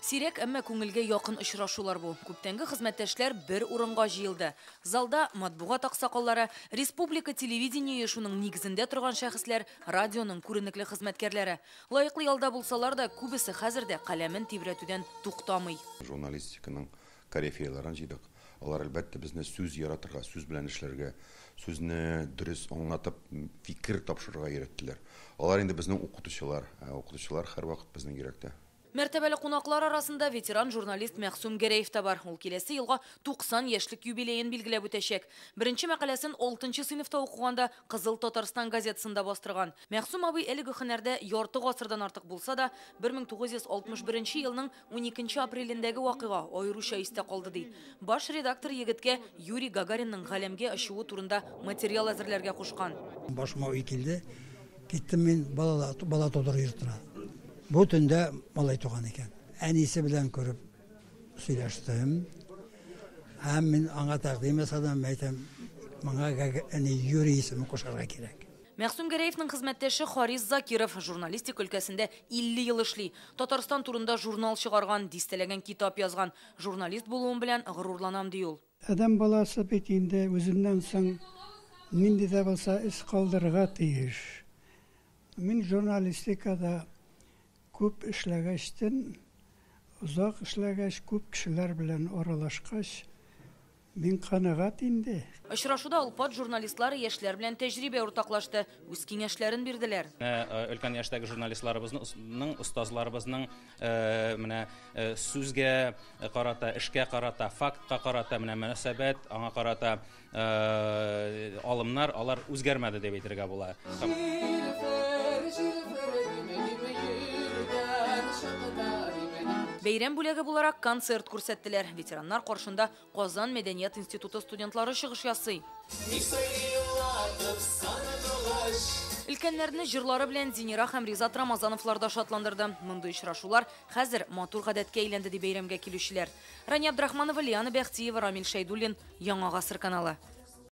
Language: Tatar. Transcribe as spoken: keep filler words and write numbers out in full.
Сирәк, әмма күңелгә якын очрашулар бу. Күптәнге хезмәттәшләр бер урынга җыелды. Залда матбугат аксакаллары, республика телевидение шуның нигезендә торган шәхесләр, радионың күренекле хезмәткәрләре. Лаеклы ялда булсалар да, күбесе хәзер дә каләмен тибрәтүдән туктамый. Журналистиканың корифейларын җыйдык. Алар әлбәттә безне сүз яратырга, сүз белән эшләргә, сүзне дөрес аңлатып, фикер тапшырырга өйрәттеләр. Алар инде безнең укытучылар, укытучылар һәрвакыт безнең йөрәктә. Мәртәбәле кунаклар арасында ветеран журналист Мәгъсүм Гәрәев та бар. Ул киләсе елга туксан яшьлек юбилеен билгеләп үтәчәк. Беренче мәкаләсен алтынчы сыйныфта укыганда Кызыл Татарстан газетасында бастырган. Мәгъсүм абый әлеге һөнәрдә ярты гасырдан артык булса да, бер мең тугыз йөз алтмыш беренче елның уникенче апрелендәге вакыйга аеруча истә калды ди. Баш редактор егеткә Юрий Гагаринның галәмгә очуы турында материал әзерләргә кушкан. Башыма уй килде. Киттем мин бала, бала тудыру йортына. Бу төндә малай туган икән. Әнисе белән күреп сөйләштем. Һәм мин аңа тәкъдим ясадым, әйтәм, моңа әни Юрий исемен кушарга кирәк. Мәгъсүм Гәрәевнең хезмәттәше Харис Закиров журналистика өлкәсендә илле ел эшли. Татарстан турында журнал чыгарган, дистәләгән китап язган. Журналист булуым белән горурланам, ди ул. Адәм баласы бит инде үзеннән соң нинди дә булса эз калдырырга тиеш. Мин журналистикада күп эшләгәчтен, озак эшләгәч, күп кешеләр белән аралашкач, мин канәгать инде. Очрашуда олпат журналистлар яшьләр белән тәҗрибә уртаклашты, үз киңәшләрен бирделәр. Өлкән яшьтәге журналистларыбызның, остазларыбызның менә сүзгә карата, эшкә карата, фактка карата менә мөнәсәбәт, аңа карата алымнар, алар үзгәрмәде дип әйтергә була. Бәйрәм бүләге буларак концерт күрсәттеләр. Ветераннар каршында Казан мәдәният институты студентлары чыгыш ясый. Өлкәннәрне җырлары белән Зинира һәм Ризат Рамазановлар да шатландырды. Мондый очрашулар хәзер матур гадәткә әйләнде ди бәйрәмгә килүчеләр. Рания Абдрахманова, Лиана Бәхтиева, Рамил Шәйдуллин, Яңа Гасыр каналы.